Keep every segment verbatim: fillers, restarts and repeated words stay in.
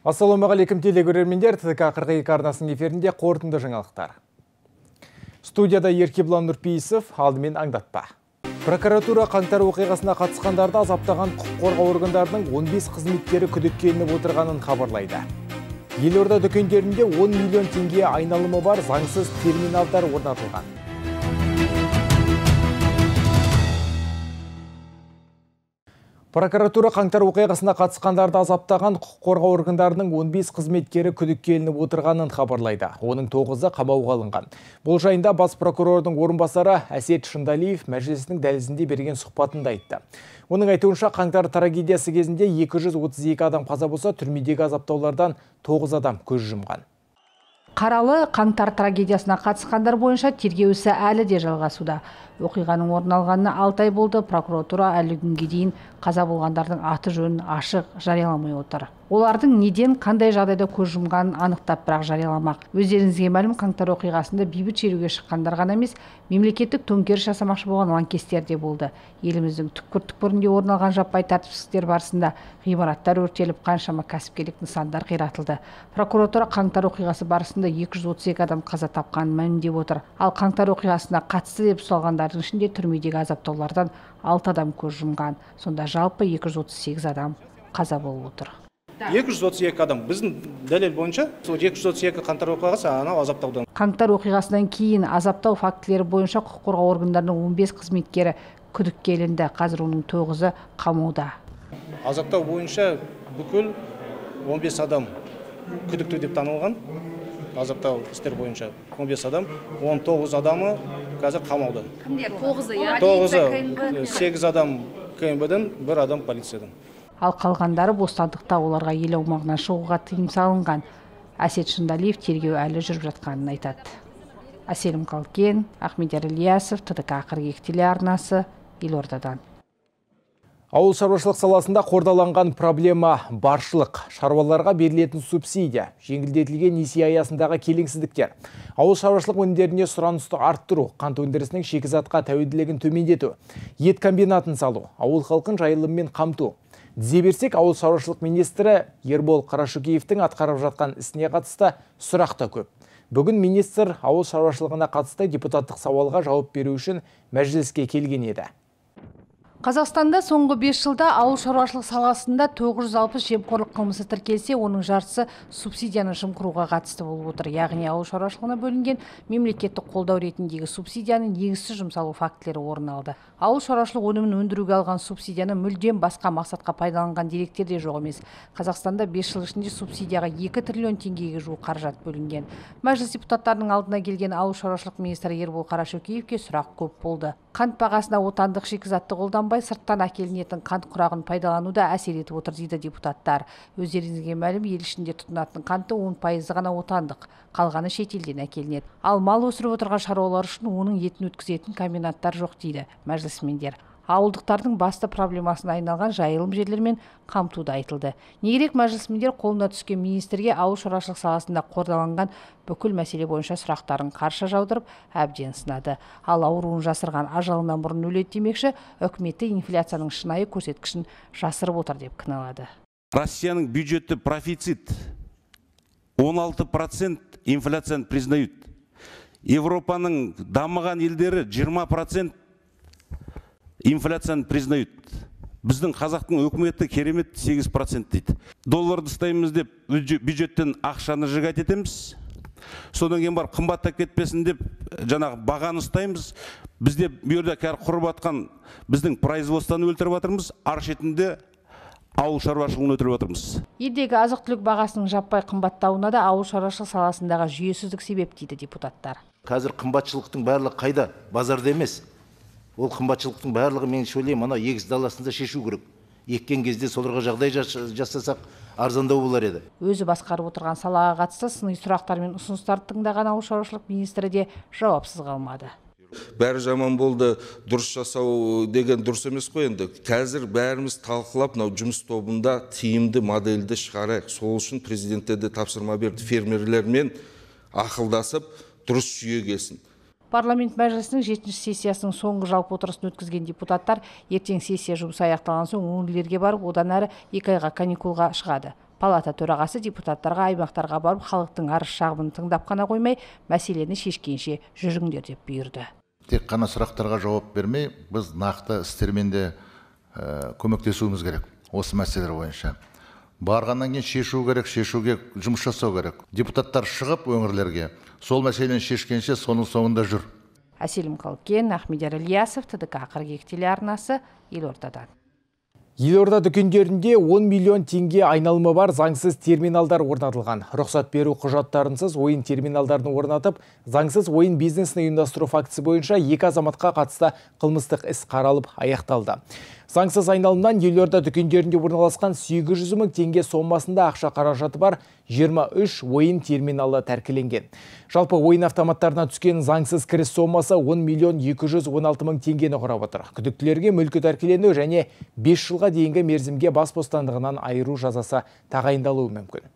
Ассалаумағалейкум телегөрермендер, ТДК қырық екі арнасының эфирінде қорытынды жаңалықтар. Студияда Еркебұлан Нұрпейісов, алдымен аңдатпа. Прокуратура қаңтар оқиғасына қатысқандарды азаптаған құқық қорғау органдарының он бес қызметкері күдікке ілініп отырғанын хабарлайды. Елорда дүкендерінде он миллион теңге айналымы бар заңсыз терминалдар орнатылған. Прокуратура қаңтар оқиғасына қатысқандарды азаптаған құқық қорғау органдарының он бес қызметкері күдікке ілініп отырғанын хабарлайды. Оның тоғызы қамауға алынған. Бұл жайында бас прокурордың орынбасары Әсет Шындалиев мәжілісінің дәлізінде берген сұхбатында айтты. Оның айтуынша қаңтар трагедиясы кезінде екі жүз отыз екі адам қаза болса, түрмедегі азаптаулардан тоғыз адам көз жұмған. Қаралы қаңтар трагедиясына қатысқандар бойынша тергеу ісі әлі де жалғасуда. Оқиғаның орын алғанына алты ай болды. Прокуратура әлі күнге дейін қаза болғандардың аты жөнін ашық жарияламай отыр. Олардың неден қандай жағдайда көз жұмғанын анықтап бірақ жарияламақ. Өздеріңізге мәлім, қаңтар оқиғасында бейбіт шеруге шыққандар ғана емес, мемлекеттік төңкеріс жасамақшы болған лаңкестер де болды. Еліміздің түкпір-түкпірінде орын алған жаппай тәртіпсіздіктер барысында ғимараттар өртеліп, қаншама кәсіпкерлік нысандар қиратылды. Прокуратура қаңтар оқиғасы барысында екі жүз отыз екі адам қаза тапқанын мәлімдеп отыр. Ал қаңтар оқиғасына қатысты деп ұсталғандардың ішінде түрмедегі азаптаулардан алты адам көз жұмған. Сонда жалпы екі жүз отыз сегіз адам қаза болып отыр. екі жүз отыз екі адам. Біздің дәлел бойынша екі жүз отыз екі қаңтар оқиғасы анау азаптаудан. Қаңтар оқиғасынан кейін азаптау фактілері бойынша құқық қорғау органдарының он бес қызметкері күдікке ілінді. Қазір оның тоғызы қамауда. Азаптау бойынша бүкіл он бес адам күдікті деп танылған. Азаптау істер бойынша он бес адам, он тоғыз адамы қазір қамауда. Кімдер? тоғызы, я? тоғызы, сегіз адам КМБ-дан, бір адам полициядан. Ал қалғандары бостандықта, оларға ел аумағынан шығуға тыйым салынған. Әсет Шындалиев тергеу әлі жүріп жатқанын айтады. Әселім Қалкен, Ахмедияр Ильясов, ТДК қырық екі телеарнасы, Елордадан. Ауыл шаруашылық саласында қордаланған проблема баршылық, шаруаларға берілетін субсидия, жеңілдетілген несие аясындағы келеңсіздіктер, ауыл шаруашылық өнімдеріне сұранысты арттыру, қант өндірісінің шикізатқа тәуелділігін төмендету, ет комбинатын салу, ауыл халқын жайылыммен қамту. Тізе берсек, ауыл шаруашылық министрі Ербол Қарашөкеевтің атқарып жатқан ісіне қатысты сұрақ та көп. Бүгін министр ауыл шаруашылығына қатысты депутаттық сауалға жауап беру үшін мәжіліске келген еді. Қазақстанда соңғы бес жылда ауыл шаруашылық саласында тоғыз жүз алпыс жемқорлық қылмысы тіркелсе, оның жартысы субсидияны жымқыруға қатысты болып отыр. Яғни ауыл шаруашылығына бөлінген мемлекеттік қолдау ретіндегі субсидияның негізсіз жұмсалу фактілері орын алды. Ауыл шаруашылық өнімін өндіруге алған субсидияны мүлдем басқа мақсатқа пайдаланған деректер де жоқ емес. Қазақстанда бес жыл ішінде субсидияға екі триллион теңгеге жуық қаражат бөлінген. Мәжіліс депутаттарының алдына келген ауыл шаруашылық министрі Ербол Қарашөкеевке сұрақ көп болды. Қант бағасына отандық шикізатты қолданбай сырттан әкелінетін қант құрағын пайдалануда әсер етіп отыр дейді депутаттар. Өздеріңізге мәлім, ел ішінде тұтынатын қанты он пайызы ғана отандық, қалғаны шетелден әкелінеді. Ал мал өсіріп отырған шаруалар үшін оның етін өткізетін комбинаттар жоқ дейді мәжілісмендер. Ауылдықтардың басты проблемасына айналған жайылым жерлермен қамтуды айтылды. Негерек мәжілісмендер қолына түскен министрге ауыл шаруашылық саласында қордаланған бүкіл мәселе бойынша сұрақтарын қарша жаудырып, әбден сынады. Ал ауруын жасырған ажалынан бұрын өледі демекші, үкіметі инфляцияның шынайы көрсеткішін жасырып отыр деп кінәлады. Россияның бюджеті профицит он алты процент инфляцияны признают. Европаның дамыған елдері жиырма процент инфляцияны признают. Біздің қазақтың өкіметі керемет сегіз процент дейді. Долларды ұстаймыз деп бюджеттен ақшаны жігат етеміз. Содан кейін бар қымбаттап кетпесін деп жаңағы бағаны ұстаймыз. Бізде бүйірде кәр құрып атқан біздің производствоны өлтіріп жатырмыз, ар шетінде ауыл шаруашылығын өлтіріп жатырмыз. Елдегі азық-түлік бағасының жаппай қымбаттауына да ауыл шаруашылық саласындағы жүйесіздік себеп дейді депутаттар. Қазір қымбатшылықтың барлығы қайда? Базарда емес. Ол қымбатшылықтың барлығы мен сөйлеймін, ана егіс даласында шешу керек. Еккен кезде соларға жағдай жасасақ арзандау болар еді. Өзі басқарып отырған салаға қатысты сыни сұрақтар мен ұсыныстарды тыңдаған ауыл шаруашылық министрі де жауапсыз қалмады. Бәрі жаман болды, дұрыс жасау деген дұрыс емес қой енді. Қазір бәріміз талқылап, мынау жұмыс тобында тиімді модельді шығарайық. Сол үшін президентте де тапсырма берді, фермерлермен ақылдасып, дұрыс жүйе келсін. Парламент мәжілісінің жетінші сессиясының соңғы жалпы отырысын өткізген депутаттар ертең сессия жұмысы аяқталған соң өңірлерге барып, одан әрі екі айға каникулға шығады. Палата төрағасы депутаттарға аймақтарға барып халықтың арыз шағымын тыңдап қана қоймай, мәселені шешкенше жүріңдер деп бұйырды. Тек қана сұрақтарға жауап бермей, біз нақты істермен де көмектесуіміз керек осы мәселелер бойынша. Барғаннан кейін шешу керек, шешуге жұмыс жасау керек. Депутаттар шығып өңірлерге, сол мәселені шешкенше соның соңында жүр. Әселім Қалкен, Ахмедияр Ильясов, ТДК қырық екі телеарнасы, Елордадан. Елорда дүкендерінде он миллион теңге айналымы бар заңсыз терминалдар орнатылған. Рұқсат беру құжаттарынсыз ойын терминалдарын орнатып, заңсыз ойын бизнесін ұйымдастыру фактісі бойынша екі азаматқа қатысты қылмыстық іс қаралып аяқталды. Заңсыз айналымнан Елорда дүкендерінде орналасқан сегіз жүз мың теңге сомасында ақша қаражаты бар жиырма үш ойын терминалы тәркіленген. Жалпы ойын автоматтарына түскен заңсыз кіріс сомасы он миллион екі жүз он алты мың теңгені құрап отыр. Күдіктілерге мүлкі тәркілену және бес жылға дейінгі мерзімге бас бостандығынан айыру жазасы тағайындалуы мүмкін.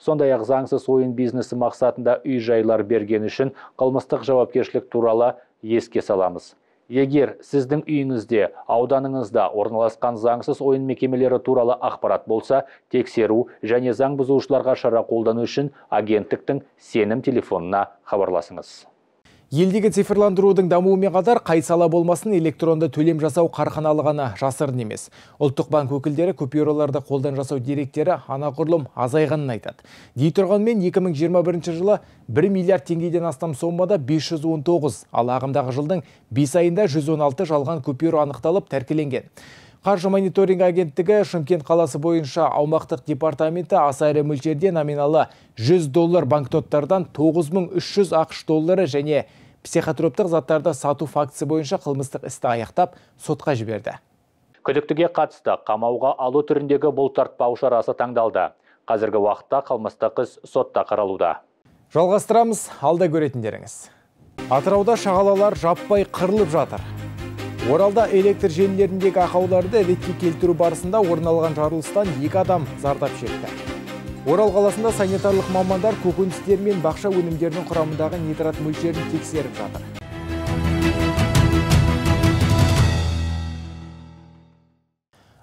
Сондай-ақ заңсыз ойын бизнесі мақсатында үй жайлар берген үшін қылмыстық жауапкершілік туралы еске саламыз. Егер сіздің үйіңізде, ауданыңызда орналасқан заңсыз ойын мекемелері туралы ақпарат болса, тексеру және заң бұзушыларға шара қолдану үшін агенттіктің сенім телефонына хабарласыңыз. Елдегі цифрландырудың дамуымен қатар қай сала болмасын электронды төлем жасау қарқыналығаны жасырын емес. Ұлттық банк өкілдері купюраларды қолдан жасау деректері анағұрлым азайғанын айтады. Дей тұрғанмен екі мың жиырма бірінші жылы бір миллиард теңгеден астам соммада бес жүз он тоғыз, ал ағымдағы жылдың бес айында жүз он алты жалған купюра анықталып тәркіленген. Қаржы мониторинг агенттігі Шымкент қаласы бойынша аумақтық департаменті аса ірі мөлшерде номиналы жүз доллар банкноттардан тоғыз мың үш жүз ақш доллары және психотроптық заттарды сату фактісі бойынша қылмыстық істі аяқтап сотқа жіберді. Күдіктіге қатысты қамауға алу түріндегі бұлтартпау шарасы таңдалды. Қазіргі уақытта қылмыстық іс сотта қаралуда. Жалғастырамыз, алда көретіндеріңіз. Атырауда шағалалар жаппай қырылып жатыр. Оралда электр желілеріндегі ақауларды ретке келтіру барысында орын алған жарылыстан екі адам зардап шекті. Орал қаласында санитарлық мамандар көкөністер мен бақша өнімдерінің құрамындағы нитрат мөлшерін тексеріп жатыр.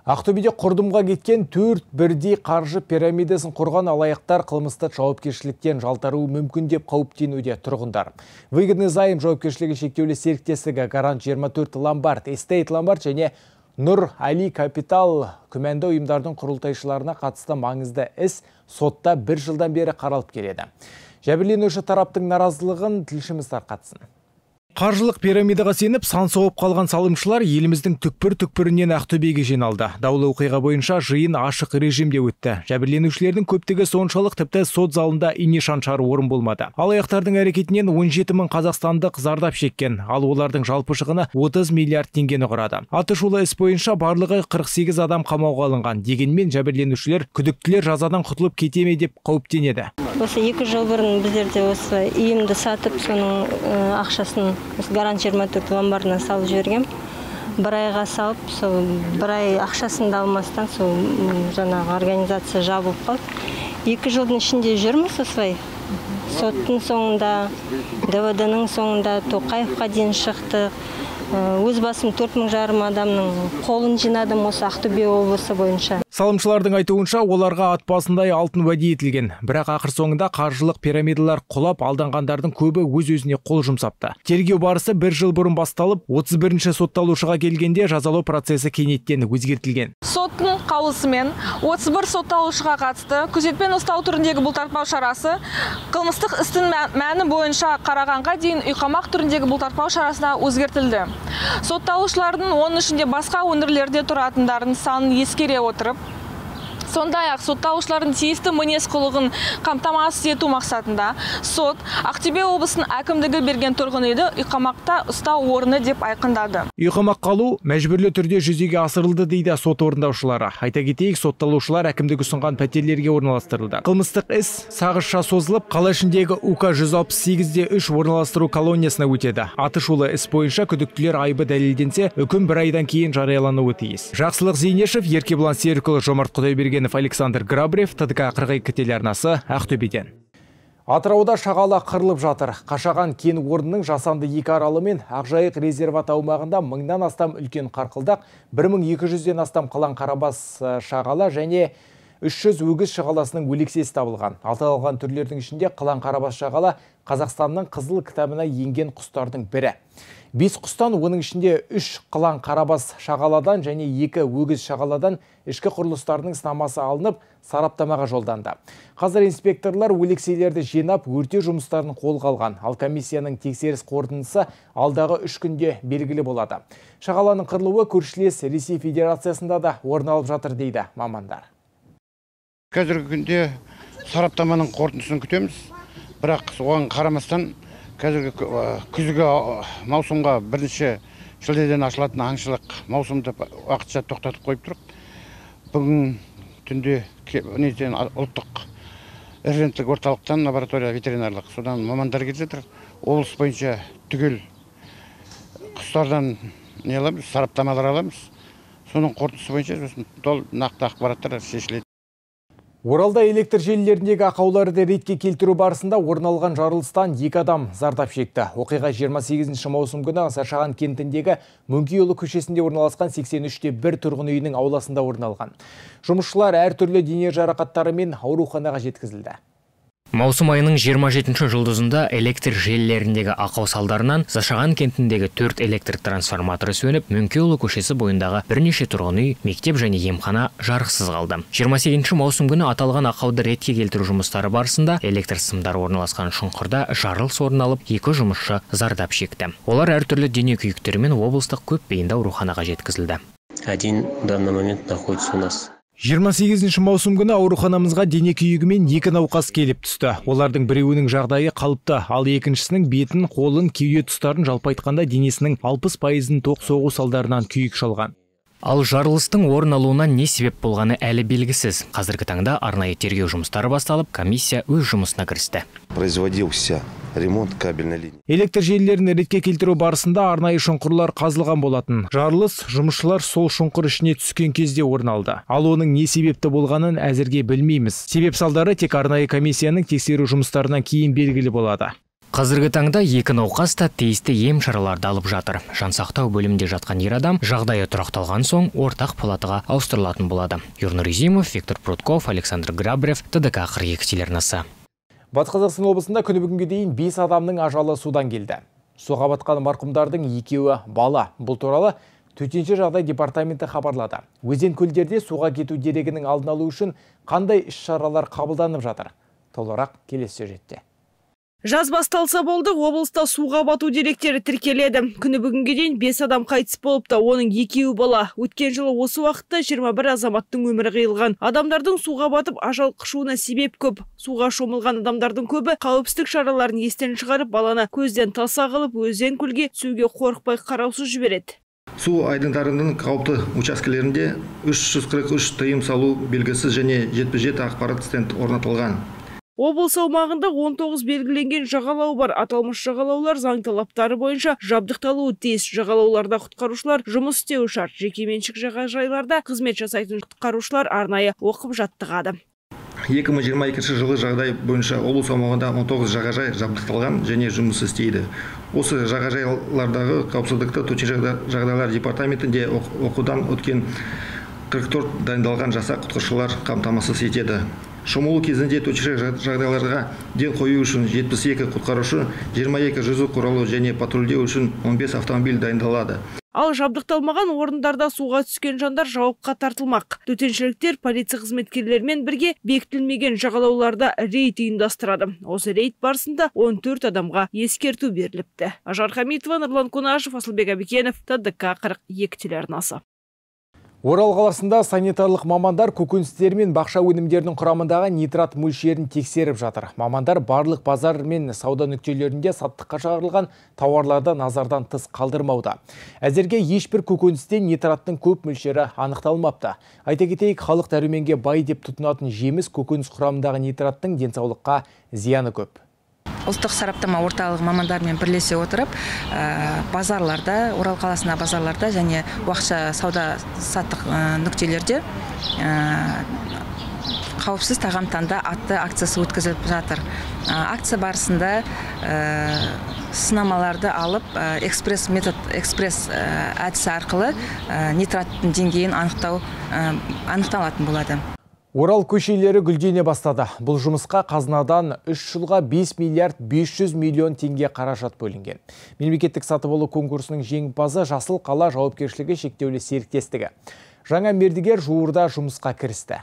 Ақтөбеде құрдымға кеткен төрт бірдей қаржы пирамидасын құрған алаяқтар қылмысты жауапкершіліктен жалтаруы мүмкін деп қауіптенуде тұрғындар. Выгодный займ жауапкершілігі шектеулі серіктестігі Гарант жиырма төрт Ломбард, Эстейт Ломбард және Нұр Али Капитал күмәнді ұйымдардың құрылтайшыларына қатысты маңызды іс сотта бір жылдан бері қаралып келеді. Жәбірленуші тараптың наразылығын тілшіміз тарқатсын. Қаржылық пирамидаға сеніп сан соғып қалған салымшылар еліміздің түкпір-түкпірінен Ақтөбеге жиналды. Даулы оқиға бойынша жиын ашық режимде өтті. Жәбірленушілердің көптігі соншалық тіпті сот залында ине шаншар орын болмады. Алаяқтардың әрекетінен он жеті мың қазақстандық зардап шеккен, ал олардың жалпы шығыны отыз миллиард теңгені құрады. Атышулы іс бойынша барлығы қырық сегіз адам қамауға алынған. Дегенмен жәбірленушілер күдіктілер жазадан құтылып кете ме деп қауіптенеді. Осы екі жыл бұрын біздерде осы үйімді сатып, соның ақшасын Гарант жиырма төрт Ломбардына салып жібергем. Бір айға салып, сол бір ай ақшасын да алмастан сол жаңағы организация жабылып қалды. Екі жылдың ішінде жүрміз осылай. Соттың соңында, ДВД-ның соңында Тоқаевқа дейін шықты. Өз басым төрт мың жарым адамның қолын жинадым осы Ақтөбе облысы бойынша. Салымшылардың айтуынша оларға ат басындай алтын уәде етілген. Бірақ ақыр соңында қаржылық пирамидалар құлап, алданғандардың көбі өз-өзіне қол жұмсапты. Тергеу барысы бір жыл бұрын басталып, отыз бірінші сотталушыға келгенде жазалау процесі кенеттен өзгертілген. Соттың қаулысымен отыз бір сотталушыға қатысты күзетпен ұстау түріндегі бұлтартпау шарасы қылмыстық істің мәні бойынша қарағанға дейін үйқамақ түріндегі бұлтартпау шарасына өзгертілді. Сотталушылардың оның ішінде басқа өңірлерде тұратындардың санын ескере отырып, сондай-ақ сотталушылардың тиісті мінез құлығын қамтамасыз ету мақсатында сот Ақтөбе облысының әкімдігі берген тұрғын үйді үйқамақта ұстау орны деп айқындады. Үйқамақ қалу мәжбүрлі түрде жүзеге асырылды дейді сот орындаушылары. Айта кетейік, сотталушылар әкімдігі ұсынған пәтерлерге орналастырылды. Қылмыстық іс сағызша созылып, қала ішіндегі УК жүз алпыс сегіз де үш орналастыру колониясына өтеді. Атышулы іс бойынша күдіктілер айыбы дәлелденсе, үкім бір айдан кейін жариялануы тиіс. Жақсылық Зейнешев, Еркебұлан Серікұлы, Жомарт Құдайберген, Александр Грабрев, ТДК қырық екі телеарнасы, Ақтөбеден. Атырауда шағала қырылып жатыр. Қашаған кен орнының жасанды екі аралы мен Ақжайық резерват аумағында мыңнан астам үлкен қарқылдақ, бір мың екі жүзден астам қалан қарабас шағала және үш жүз өгіз шағаласының өлексесі табылған. Аталған түрлердің ішінде қылаң қарабас шағала Қазақстанның қызыл кітабына енген құстардың бірі. Бес құстан, оның ішінде үш қылаң қарабас шағаладан және екі өгіз шағаладан ішкі құрылыстарының сынамасы алынып, сараптамаға жолданды. Қазір инспекторлар өлекселерді жинап, өртеу жұмыстарын қолға алған. Ал комиссияның тексеріс қорытындысы алдағы үш күнде белгілі болады. Шағаланың қырылуы көршілес Ресей Федерациясында да орын алып жатыр дейді мамандар. Қазіргі күнде сараптаманың қорытындысын күтеміз. Бірақ оған қарамастан қазіргі күзгі маусымға бірінші шілдеден ашылатын аңшылық маусымды уақытша тоқтатып қойып тұрып, бүгін түнде ұлттық референттік орталықтан лаборатория ветеринарлық содан мамандар келіп жатыр. Облыс бойынша түгел құстардан не аламыз, сараптамалар аламыз. Соның қорытындысы бойынша тол нақты ақпараттар шешіледі. Оралда электр желілеріндегі ақауларды ретке келтіру барысында орын алған жарылыстан екі адам зардап шекті. Оқиға жиырма сегізінші маусым күні Зашаған кентіндегі Мөңкейұлы көшесінде орналасқан сексен үште бір тұрғын үйінің ауласында орын алған. Жұмысшылар әртүрлі дене жарақаттарымен ауруханаға жеткізілді. Маусым айының жиырма жетінші жұлдызында электр желілеріндегі ақау салдарынан Зашаған кентіндегі төрт электр трансформаторы сөніп, Мөңкейұлы көшесі бойындағы бірнеше тұрғын үй, мектеп және емхана жарықсыз қалды. жиырма сегізінші маусым күні аталған ақауды ретке келтіру жұмыстары барысында электр сымдары орналасқан шұңқырда жарылыс орын алып, екі жұмысшы зардап шекті. Олар әртүрлі дене күйіктерімен облыстық көпбейінді ауруханаға жеткізілді. Один в данный момент находится у нас. жиырма сегізінші маусым күні ауруханамызға дене күйігімен екі науқас келіп түсті. Олардың біреуінің жағдайы қалыпты, ал екіншісінің бетін, қолын, кеуде тұстарын жалпы айтқанда денесінің алпыс пайызын тоқ соғу салдарынан күйік шалған. Ал жарылыстың орын алуына не себеп болғаны әлі белгісіз. Қазіргі таңда арнайы тергеу жұмыстары басталып, комиссия өз жұмысына кірісті. Производился ремонт кабельной линии. Электр желілерін ретке келтіру барысында арнайы шұңқырлар қазылған болатын. Жарылыс жұмысшылар сол шұңқыр ішіне түскен кезде орын алды. Ал оның не себепті болғанын әзірге білмейміз. Себеп салдары тек арнайы комиссияның тексеру жұмыстарынан кейін белгілі болады. Қазіргі таңда екі науқас та тиісті ем шараларды алып жатыр. Жансақтау бөлімінде жатқан ер адам жағдайы тұрақталған соң ортақ палатаға ауыстырылатын болады. Юрнур Изимов, Виктор Прутков, Александр Грабрев, ТДК қырық екі телеарнасы. Батыс Қазақстан облысында күні бүгінге дейін бес адамның ажалы судан келді. Суға батқан марқұмдардың екеуі бала. Бұл туралы төтенше жағдай департаменті хабарлады. Өзен көлдерде суға кету дерегінің алдын алу үшін қандай іс-шаралар қабылданып жатыр? Толығырақ келесі сюжетте. Жаз басталса болды, облыста суға бату деректері тіркеледі. Күні бүгінге дейін бес адам қайтыс болыпты, оның екеуі бала. Өткен жылы осы уақытта жиырма бір азаматтың өмірі қиылған. Адамдардың суға батып ажал құшуына себеп көп. Суға шомылған адамдардың көбі қауіпсіздік шараларын естен шығарып, баланы көзден таса қылып, өзен көлге түсуге қорықпай қараусыз жібереді. Су айдындарының қауіпті учаскелерінде үш жүз қырық үш тыйым салу белгісі және жетпіс жеті ақпарат стенд орнатылған. Облыс аумағында он тоғыз белгіленген жағалау бар. Аталмыш жағалаулар заң талаптары бойынша жабдықталуы тиіс. Жағалауларда құтқарушылар жұмыс істеуі шарт. Жекеменшік жағажайларда қызмет жасайтын құтқарушылар арнайы оқып жаттығады. екі мың жиырма екінші жылы жағдай бойынша облыс аумағында он тоғыз жағажай жабдықталған және жұмыс істейді. Осы жағажайлардағы қауіпсіздікті төтенше жағдайлар департаментінде оқудан өткен қырық төрт дайындалған жасақ құтқарушылар қамтамасыз етеді. Шомылу кезінде төтенше жағдайларға ден қою үшін жетпіс екі құтқарушы, жиырма екі жүзу құралы және патрульдеу үшін он бес автомобиль дайындалады. Ал жабдықталмаған орындарда суға түскен жандар жауапқа тартылмақ. Төтеншіліктер полиция қызметкерлерімен бірге бекітілмеген жағалауларда рейд ұйымдастырады. Осы рейд барысында он төрт адамға ескерту беріліпті. Ажар Хамитова, Нұрлан Қонашев, Асылбек Абекенов, ТДК қырық екі телеарнасы. Орал қаласында санитарлық мамандар көкөністер мен бақша өнімдерінің құрамындағы нитрат мөлшерін тексеріп жатыр. Мамандар барлық базар мен сауда нүктелерінде саттыққа шығарылған тауарларды назардан тыс қалдырмауда. Әзірге ешбір көкөністе нитраттың көп мөлшері анықталмапты. Айта кетейік, халық дәруменге бай деп тұтынатын жеміс көкөніс құрамындағы нитраттың денсаулыққа зияны көп. Ұлттық сараптама орталығы мамандармен бірлесе отырып, базарларда, Орал қаласына базарларда және уақытша сауда саттық нүктелерде қауіпсіз тағам таңда атты акциясы өткізіліп жатыр. Акция барысында сынамаларды алып, экспресс метод, экспресс әдісі арқылы нитраттың деңгейін анықтау анықталатын болады. Орал көшелері гүлдене бастады. Бұл жұмысқа қазынадан үш жылға бес миллиард бес жүз миллион теңге қаражат бөлінген. Мемлекеттік сатып алу конкурсының жеңімпазы Жасыл қала жауапкершілігі шектеулі серіктестігі. Жаңа мердігер жуырда жұмысқа кірісті.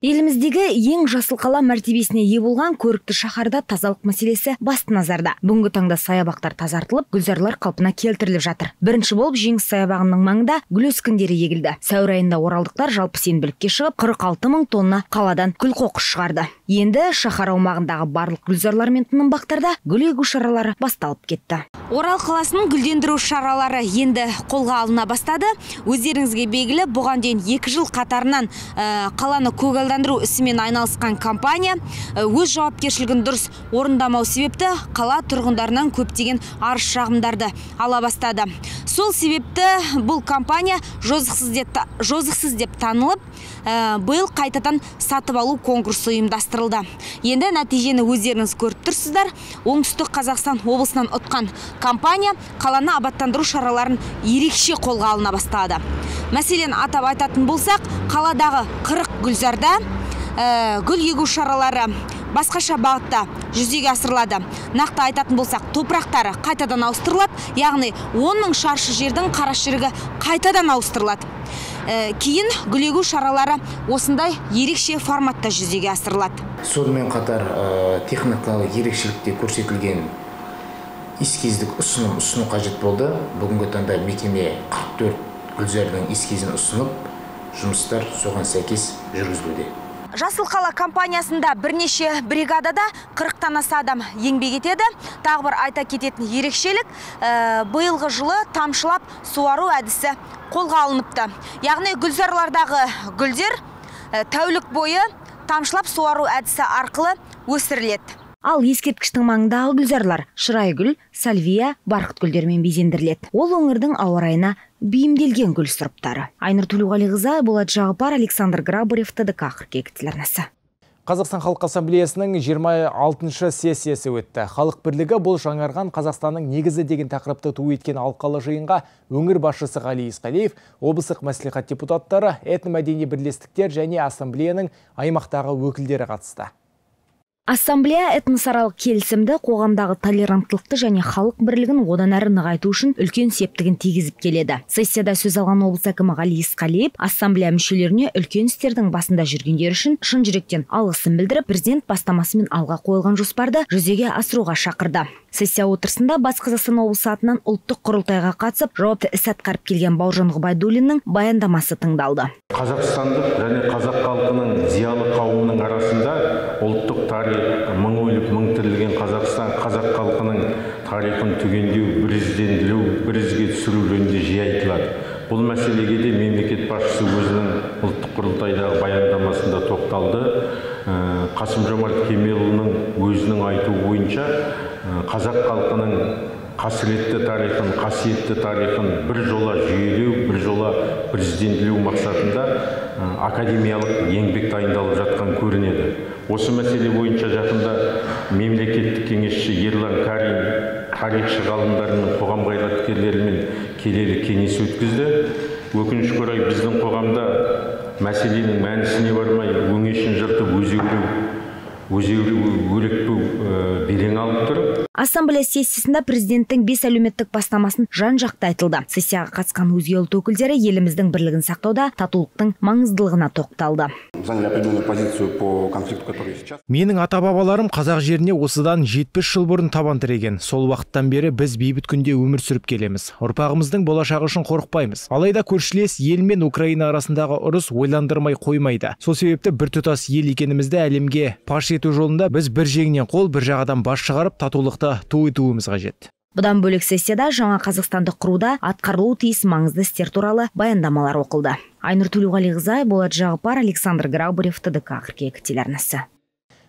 Еліміздегі ең жасыл қала мәртебесіне ие болған көрікті шаһарда тазалық мәселесі басты назарда. Бүгінгі таңда саябақтар тазартылып, гүлзарлар қалпына келтіріліп жатыр. Бірінші болып Жеңіс саябағының маңында гүл өскіндері егілді. Сәуір айында оралдықтар жалпы сенбілікке шығып, қырық алты мың тонна қаладан күл қоқыс шығарды. Енді шаһар аумағындағы барлық гүлзарлар мен тынымбақтарда гүл егу шаралары басталып кетті. Орал қаласының гүлдендіру шаралары енді қолға алына бастады. Өздеріңізге белгілі, бұған дейін екі жыл қатарынан ә, қаланы көгалдандыру ісімен айналысқан компания өз жауапкершілігін дұрыс орындамау себепті қала тұрғындарынан көптеген арыз шағымдарды ала бастады. Сол себепті бұл компания жозықсыз деп, жозықсыз деп танылып, ә, биыл қайтадан сатып алу конкурсы ұйымдастырылды. Енді нәтижені өздеріңіз көріп тұрсыздар. Оңтүстік Қазақстан облысынан ұтқан компания қаланы абаттандыру шараларын ерекше қолға алына бастады. Мәселен, атап айтатын болсақ, қаладағы қырық гүлзарда ә, гүл егу шаралары басқаша бағытта жүзеге асырылады. Нақты айтатын болсақ, топырақтары қайтадан ауыстырылады, яғни он мың шаршы жердің қарашірігі қайтадан ауыстырылады. Ә, кейін гүл егу шаралары осындай ерекше форматта жүзеге асырылады. Сонымен қатар ә, техникалық ерекшелікте көрсетілген эскиздік ұсыным ұсыну қажет болды. Бүгінгі таңда мекеме қырық төрт гүлзардың эскизін ұсынып, жұмыстар соған сәйкес жүргізілуде. Жасыл қала компаниясында бірнеше бригадада қырықтан аса адам еңбек етеді. Тағы бір айта кететін ерекшелік, ә, биылғы жылы тамшылап суару әдісі қолға алыныпты. Яғни гүлзарлардағы гүлдер ә, тәулік бойы тамшылап суару әдісі арқылы өсіріледі. Ал ескерткіштің маңындағы гүлзарлар шырайгүл, сальвия, барқыт гүлдермен безендіріледі. Ол өңірдің ауа райына бейімделген гүл сұрыптары. Айнұр Төлеуғалиқызы, Болат Жағыпар, Александр Грабарев, ТДК қыркүйек телеарнасы. Қазақстан Халық Ассамблеясының жиырма алтыншы сессиясы өтті. Халық бірлігі бұл жаңарған Қазақстанның негізі деген тақырыпты ту еткен алқалы жиынға өңір басшысы Ғали Есқалиев, облыстық мәслихат депутаттары, этномәдени бірлестіктер және ассамблеяның аймақтағы өкілдері қатысты. Ассамблея этносаралық келісімді, қоғамдағы толеранттылықты және халық бірлігін одан әрі нығайту үшін үлкен септігін тигізіп келеді. Сессияда сөз алған облыс әкімі Ғали Есқалиев ассамблея мүшелеріне үлкен істердің басында жүргендер үшін шын жүректен алғысын білдіріп, президент бастамасымен алға қойылған жоспарды жүзеге асыруға шақырды. Сессия отырысында Батыс Қазақстан облысы атынан ұлттық құрылтайға қатысып, жауапты іс атқарып келген Бауыржан Ғұбайдуллиннің баяндамасы тыңдалды. Қазақстандық және қазақ халқының зиялы қауымының арасында ұлттық тарих, мың өліп, мың тірілген Қазақстан, қазақ халқының тарихын түгендеу, бірізденділеу, бірізге түсіру жөнінде жиі айтылады. Бұл мәселеге де мемлекет басшысы өзінің ұлттық құрылтайдағы баяндамасында тоқталды. Қасым-Жомарт Кемелұлының өзінің айтуы бойынша қазақ халқының қасіретті тарихын, қасиетті тарихын бір жола жүйелеу, бір жола президентлеу мақсатында академиялық еңбек дайындалып жатқан көрінеді. Осы мәселе бойынша жақында мемлекеттік кеңесші Ерлан Карин тарихшы ғалымдарының, қоғам қайраткерлерімен келелі кеңес өткізді. Өкінішке орай біздің қоғамда мәселенің мәнісіне бармай, өңешін жыртып өзеуреу өрекпу белең алып тұр. Ассамблея сессиясында президенттің бес әлеуметтік бастамасын жан-жақты айтылды. Сессияға қатысқан өзге ұлт өкілдері еліміздің бірлігін сақтауда татулықтың маңыздылығына тоқталды. Менің ата-бабаларым қазақ жеріне осыдан жетпіс жыл бұрын табан тіреген. Сол уақыттан бері біз бейбіт күнде өмір сүріп келеміз. Ұрпағымыздың болашағы үшін қорықпаймыз. Алайда көршілес ел мен Украина арасындағы ұрыс ойландырмай қоймайды. Сол себепті біртұтас ел екенімізді әлемге паш ету жолында біз бір жеңнен қол, бір жағадан бас шығарып, татулықты ту етуіміз қажет. Бұдан бөлек сессияда жаңа Қазақстанды құруда атқарылуы тиіс маңызды істер туралы баяндамалар оқылды. Айнұр Төлеуғалиқызы, Болат Жағыпар, Александр Грабарев, ТДК қыркүйек телеарнасы.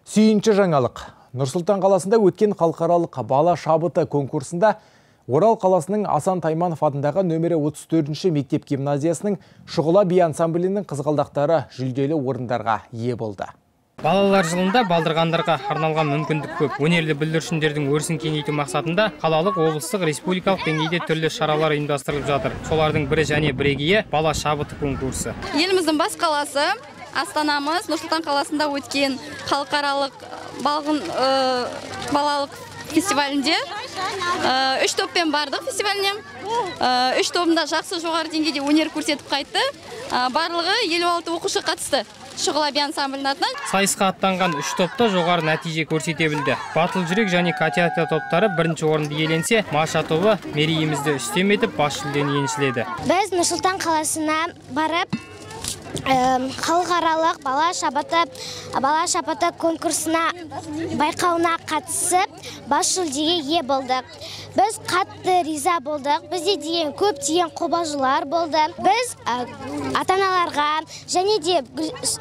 Сүйінші жаңалық. Нұр-Сұлтан қаласында өткен халықаралық бала шабыты конкурсында Орал қаласының Асан Тайманов атындағы нөмірі отыз төртінші мектеп гимназиясының Шұғыла би ансамблінің қызғалдақтары жүлделі орындарға ие болды. Балалар жылында балдырғандарға арналған мүмкіндік көп. Өнерлі бүлдіршіндердің өрісін кеңейту мақсатында қалалық, облыстық, республикалық деңгейде түрлі шаралар ұйымдастырылып жатыр. Солардың бірі және бірегейі бала шабыты конкурсы. Еліміздің бас қаласы астанамыз Нұр-Сұлтан қаласында өткен халықаралық балғын балалық фестивалінде үш топпен бардық фестиваліне. Үш тобында жақсы жоғары деңгейде өнер көрсетіп қайтты. Барлығы елу алты оқушы қатысты. Шұғыла би ансамблінің атынан. Сайысқа аттанған үш топта жоғары нәтиже көрсете білді. Батыл жүрек және Катята топтары бірінші орынды иеленсе, Маша тобы мерейімізді үстем етіп бас жүлдені еншіледі. Біз Нұр-Сұлтан қаласына барып, халықаралық бала шабыты бала шабыты конкурсына байқауына қатысып, бас жүлдеге ие болдық. Біз қатты риза болдық. Бізде деген көптеген қобалжулар болды. Біз ата-аналарға және де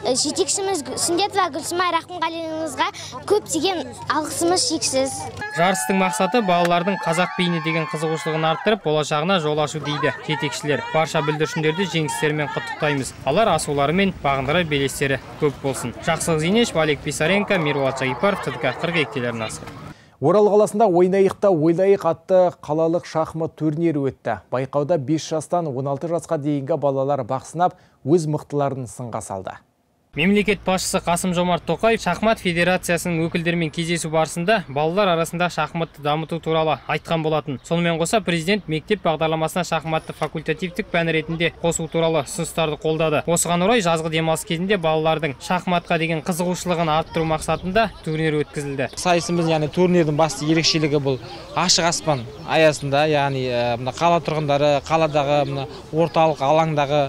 жетекшіміз Сүндетова Гүлсімай Рахымғалиевнаға көптеген алғысымыз шексіз. Жарыстың мақсаты балалардың қазақ биіне деген қызығушылығын арттырып, болашағына жол ашу дейді жетекшілер. Барша бүлдіршіндерді жеңістерімен құттықтаймыз. Алар асуларымен бағындырар белестері көп болсын. Жақсылық Зейнеш, Валек Писаренко, Мирболат Жайыпаров, ТДК қырық екі телеарнасы. Орал қаласында ойнайықта ойлайық атты қалалық шахмат турнирі өтті. Байқауда бес жастан он алты жасқа дейінгі балалар бақ сынап, өз мықтыларын сынға салды. Мемлекет басшысы Қасым-Жомарт Тоқаев шахмат федерациясының өкілдерімен кездесу барысында балалар арасында шахматты дамыту туралы айтқан болатын. Сонымен қоса президент мектеп бағдарламасына шахматты факультативтік пән ретінде қосу туралы ұсыныстарды қолдады. Осыған орай жазғы демалыс кезінде балалардың шахматқа деген қызығушылығын арттыру мақсатында турнир өткізілді. Сайысымыз, яғни турнирдің басты ерекшелігі бұл ашық аспан аясында, яғни мына қала тұрғындары, қаладағы мына орталық алаңдағы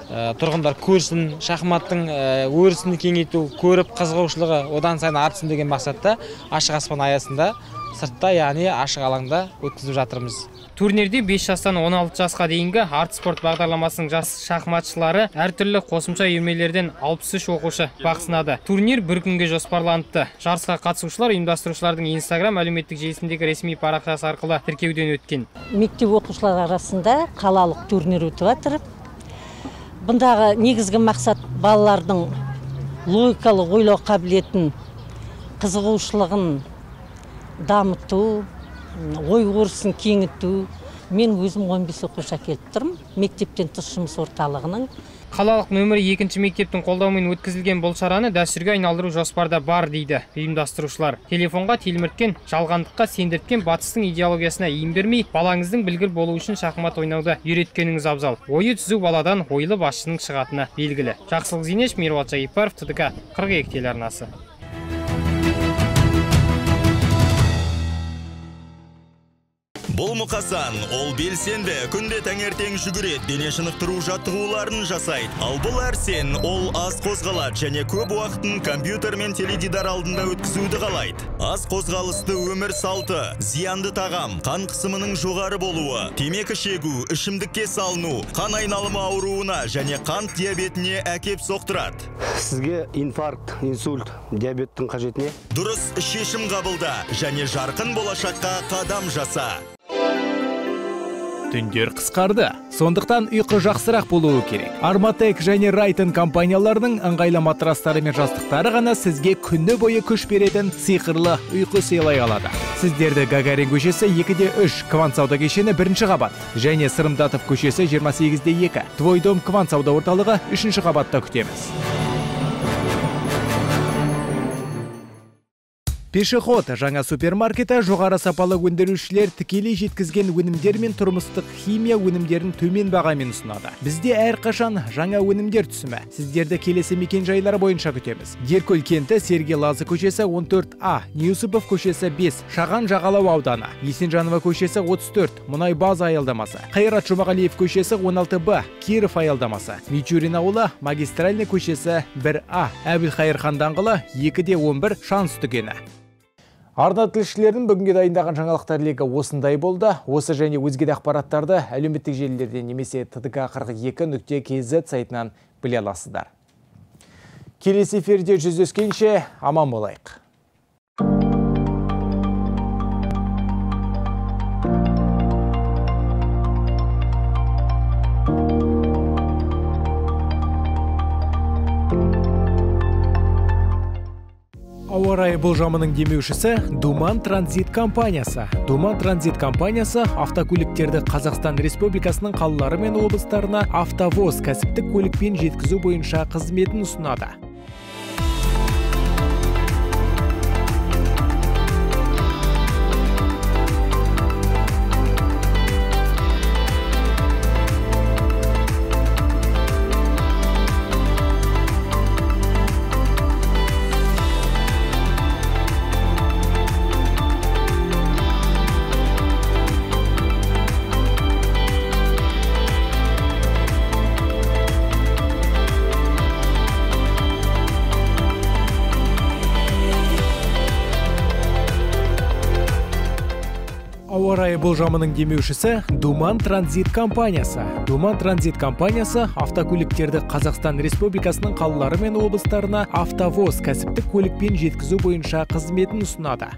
тұрғындар көрсін, шахматтың өрісін кеңейту, көріп қызығушылығы одан сайын артсын деген мақсатта ашық аспан аясында сыртта, яғни ашық алаңда өткізіп жатырмыз. Турнирде бес жастан он алты жасқа дейінгі арт спорт бағдарламасының жас шахматшылары әртүрлі қосымша үйірмелерден алпыс үш оқушы бақ сынады. Турнир бір күнге жоспарланыпты. Жарысқа қатысушылар ұйымдастырушылардың Инстаграм әлеуметтік желісіндегі ресми парақшасы арқылы тіркеуден өткен. Мектеп оқушылар арасында қалалық турнир өтіп жатыр. Бұндағы негізгі мақсат балалардың логикалық ойлау қабілетін, қызығушылығын дамыту, ой өрісін кеңіту. Мен өзім он бес оқушы әкеліп тұрмын, мектептен тыс жұмыс орталығының. Қалалық нөмірі екінші мектептің қолдауымен өткізілген бұл шараны дәстүрге айналдыру жоспарда бар дейді ұйымдастырушылар. Телефонға телмірткен, жалғандыққа сендірткен батыстың идеологиясына иін бермей, балаңыздың білгір болу үшін шахмат ойнауды үйреткеніңіз абзал. Ойы түзу баладан ойлы басшының шығатыны белгілі. Жақсылық Зейнеш, Мирболат Жайыпаров, ТДК қырық екі телеарнасы. Бұл мұқасан, ол белсенді, күнде таңертең жүгірет, дене шынықтыру жаттығуларын жасайды. Ал бұл әрсен, ол аз қозғалады және көп уақытын компьютер мен теледидар алдында өткізуді қалайды. Аз қозғалысты өмір салты, зиянды тағам, қан қысымының жоғары болуы, темекі шегу, ішімдікке салыну, қан айналымы ауруына және қант диабетіне әкеп соқтырады. Сізге инфаркт, инсульт, диабеттің қажет не? Дұрыс шешім қабылда және жарқын болашаққа қадам жаса. Түндер қысқарды, сондықтан ұйқы жақсырақ болуы керек. Арматек және Райтон компанияларының ыңғайлы матрастары мен жастықтары ғана сізге күні бойы күш беретін сиқырлы ұйқы сыйлай алады. Сіздерді Гагарин көшесі екі де үш, Квант сауда кешені бірінші қабат және Сырымдатов көшесі жиырма сегіз де екі, Твой дом Квант сауда орталығы үшінші қабатта күтеміз. Пешеход жаңа супермаркеті жоғары сапалы өндірушілер тікелей жеткізген өнімдер мен тұрмыстық химия өнімдерін төмен бағамен ұсынады. Бізде әрқашан жаңа өнімдер түсімі. Сіздерді келесі мекен-жайлары бойынша күтеміз. Деркөл кенті, Сергей Лазы көшесі он төрт А, Ньюсупов көшесі бес, Шаған Жағалау ауданы, Есенжанова көшесі отыз төрт, Мұнай база аялдамасы, Қайрат Жұмағалиев көшесі он алты Б, Киров аялдамасы, Мичурин ауылы, Магистральный көшесі бір А, Әбілхайыр хан даңғылы екі де он бір, Шанс дүкені. Арна тілшілердің бүгінге дайындаған жаңалықтар легі осындай болды. Осы және өзге де ақпараттарды әлеуметтік желілерден немесе ТДК қырық екі нүкте кз сайтынан біле аласыздар. Келесі эфирде жүздескенше аман болайық. Ауа райы болжамының демеушісі Думан Транзит компаниясы. Думан Транзит компаниясы автокөліктерді Қазақстан Республикасының қалалары мен облыстарына автовоз кәсіптік көлікпен жеткізу бойынша қызметін ұсынады. Ауа райы болжамының демеушісі Думан Транзит компаниясы. Думан Транзит компаниясы автокөліктерді Қазақстан Республикасының қалалары мен облыстарына автовоз кәсіптік көлікпен жеткізу бойынша қызметін ұсынады.